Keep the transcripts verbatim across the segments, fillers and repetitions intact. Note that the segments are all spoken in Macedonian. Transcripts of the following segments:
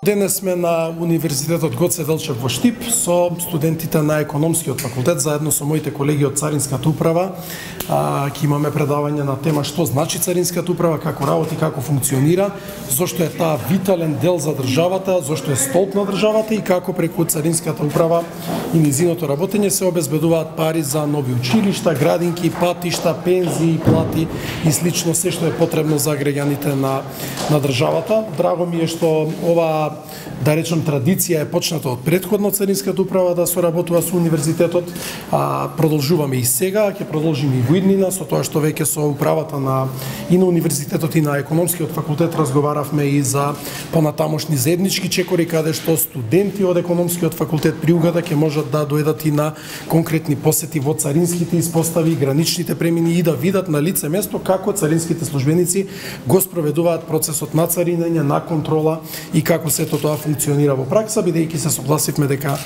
Денес сме на Универзитетот Гоце Делчев во Штип со студентите на економскиот факултет, заедно со моите колеги од Царинската управа. Ќе имаме предавање на тема што значи Царинската управа, како работи, како функционира, зошто е таа витален дел за државата, зошто е столб на државата и како преку Царинската управа и низиното работење се обезбедуваат пари за нови училишта, градинки, патишта, пензии, плати и слично се што е потребно за граѓаните на на државата. Драго ми е што ова, да речем, традиција е почната од претходно Царинската управа да соработува со универзитетот, а продолжуваме и сега, ќе продолжиме и во иднина со тоа што веќе со управата на и на универзитетот и на економскиот факултет разговаравме и за понатамошни заеднички чекори каде што студенти од економскиот факултет при угода ќе можат да дојдат и на конкретни посети во царинските испостави, граничните премини и да видат на лице место како царинските службеници го спроведуваат процесот на царинење, на контрола и како сето тоа функционира во пракса, бидејќи се согласивме дека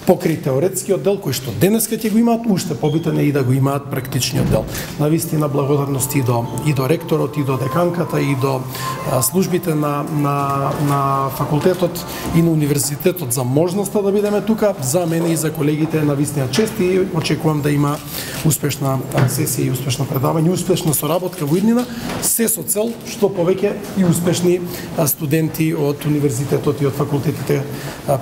покрај теоретскиот дел кој што денеска ќе го имаат, уште побитен е и да го имаат практичниот дел. Навистина благодарности и до и до ректорот, и до деканката, и до а, службите на на на факултетот и на универзитетот за можноста да бидеме тука. За мене и за колегите е навистина чест и очекувам да има успешна сесија и успешно предавање, успешна соработка во иднина, се со цел што повеќе и успешни студенти од универзитетот и од факултетите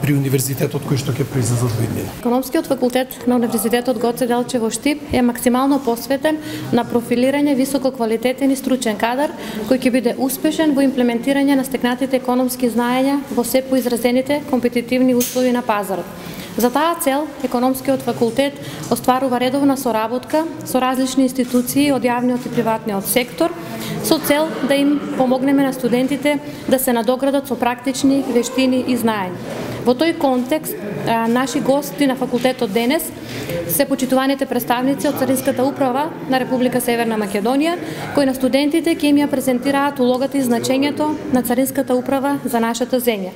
при универзитетот кои што ќе произлезат во иднина. Економскиот факултет на Универзитетот Гоце Делчев во Штип е максимално посветен на профилирање висококвалитетен и стручен кадар кој ќе биде успешен во имплементирање на стекнатите економски знаења во се поизразените компетитивни услови на пазарот. За таа цел, Економскиот факултет остварува редовна соработка со различни институции од јавниот и приватниот сектор, со цел да им помогнеме на студентите да се надоградат со практични вештини и знаења. Во тој контекст, наши гости на факултетот денес се почитуваните представници од Царинската управа на Република Северна Македонија, кои на студентите ќе им ја презентираат улогата и значењето на Царинската управа за нашата земја.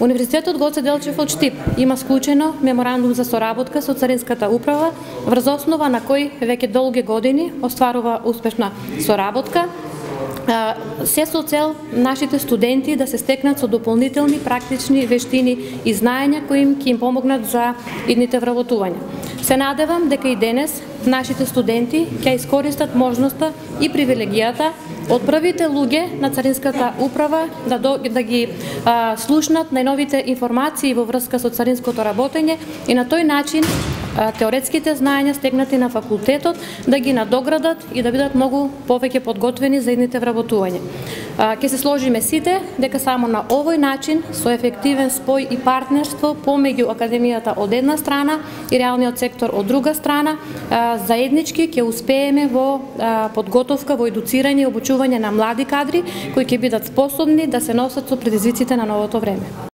Универзитетот Гоце Делчев од Штип има склучено меморандум за соработка со Царинската управа, врз основа на кој веќе долги години остварува успешна соработка, се со цел нашите студенти да се стекнат со дополнителни практични вештини и знаења кои им ќе им помогнат за идните вработувања. Се надевам дека и денес нашите студенти ќе искористат можноста и привилегијата од првите луѓе на Царинската управа да, до, да ги а, слушнат најновите информации во врска со царинското работење и на тој начин а, теоретските знаења стегнати на факултетот да ги надоградат и да бидат многу повеќе подготвени за идните вработувања. Ке се сложиме сите дека само на овој начин со ефективен спој и партнерство помеѓу академијата од една страна и реалниот сектор од друга страна, а, заеднички ќе успееме во а, подготовка, во едуцирање и обучување на млади кадри кои ќе бидат способни да се носат со предизвиците на новото време.